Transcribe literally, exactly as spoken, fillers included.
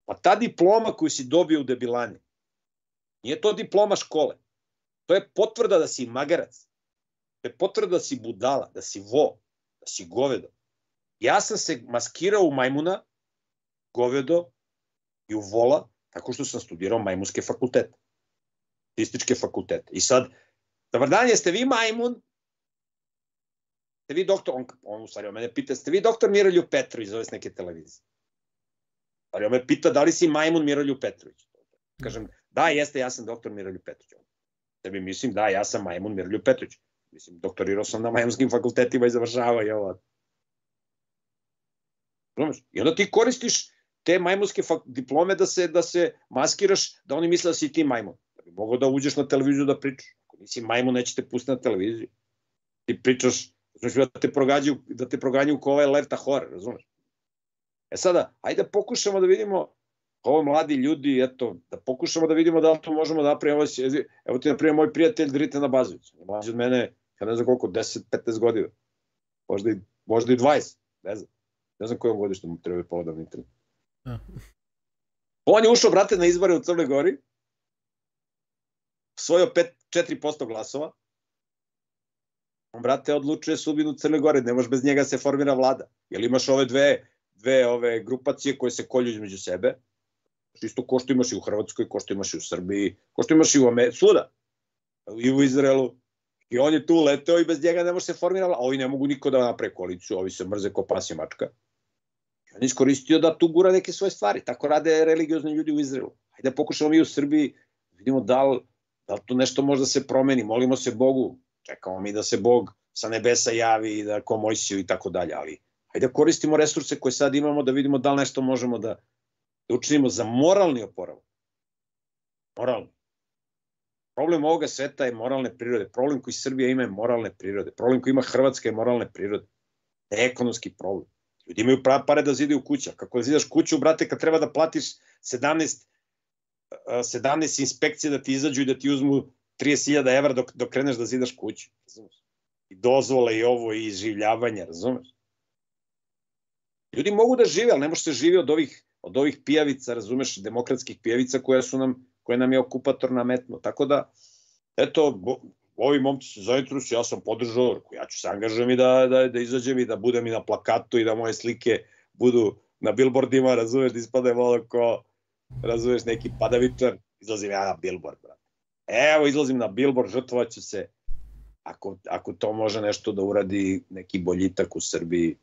Pa ta diploma koju si dobio u debilani, nije to diploma škole. To je potvrda da si magarac. To je potvrda da si budala, da si vo, da si govedo. Ja sam se maskirao u majmuna, govedo i u vola, tako što sam studirao majmunske fakultete. Statističke fakultete. I sad, dobar dan, jeste vi majmun? Ste vi doktor, on, on u stvari o mene pita, ste vi doktor Miroljub Petrović, zove s neke televizije. Ali on me pita da li si majmun Miroljub Petrović. Kažem, da, jeste, ja sam doktor Miroljub Petrović. Tebi mislim, da, ja sam majmun Miroljub Petrović. Mislim, doktorirao sam na majmunskim fakultetima i završava i ovo. I onda ti koristiš te majmunske diplome da se, da se maskiraš, da oni misle da si ti majmun. Da bi mogao da uđeš na televiziju da pričaš. Ako nisi majmun, neće te pustiti na televiziju. Ti pričaš, znači da te progađaju, da te proganjaju ko ovaj Lerta Hore, razumeš? E sada, ajde da pokušamo da vidimo, ovo mladi ljudi, eto, da pokušamo da vidimo da li to možemo da napravimo. Evo ti, na primjer, moj prijatelj Drite na Bazović. Mlađi od mene, ja ne znam koliko, deset do petnaest godina. Možda i, možda i dvadeset, ne znam. Ne znam kojom godištu mu treba povodom internet. On je ušao, brate, na izbore u Crnoj Gori, osvojio četiri posto glasova. On, brate, odlučuje sudbinu Crne Gore, ne može bez njega se formira vlada. Jer imaš ove dve, dve ove grupacije koje se kolju između sebe. Isto ko što imaš i u Hrvatskoj, ko što imaš i u Srbiji, ko što imaš i u Americi, svuda. I u Izraelu. I on je tu leteo i bez njega ne može se formira vlada. Ovi ne mogu niko da naprave koaliciju, ovi se mrze ko pas i mačka. I on je iskoristio da tu gura neke svoje stvari. Tako rade religiozni ljudi u Izraelu. Hajde da pokušamo mi u Srbiji, vidimo da li, da li to nešto možda se promeni. Molimo se Bogu. Čekamo mi da se Bog sa nebesa javi i da ko Mojsiju i tako dalje, ali hajde da koristimo resurse koje sad imamo da vidimo da li nešto možemo da, da učinimo za moralni oporavak. Moralni. Problem ovoga sveta je moralne prirode. Problem koji Srbija ima je moralne prirode. Problem koji ima Hrvatska je moralne prirode. Ne ekonomski problem. Ljudi imaju pare da zidaju kuća. Kako da zidaš kuću, brate, kad treba da platiš sedamnaest, sedamnaest inspekcije da ti izađu i da ti uzmu trideset hiljada evra dok, dok kreneš da zidaš kuću, razumeš? I dozvole i ovo, i življavanja, razumeš? Ljudi mogu da žive, ali ne može se živi od ovih, od ovih pijavica, razumeš, demokratskih pijavica koje su nam, koje nam je okupator nametno. Tako da, eto, bo, ovi momci se zainteresuju, ja sam podržao, ja ću se angažujem i da, da, da izađem i da budem i na plakatu i da moje slike budu na billboardima, razumeš, da ispadaju malo ko, razumeš, neki padavičar, izlazim ja na billboard, brate. Evo, izlazim na billboard, žrtvovaću se, ako, ako to može nešto da uradi neki boljitak u Srbiji,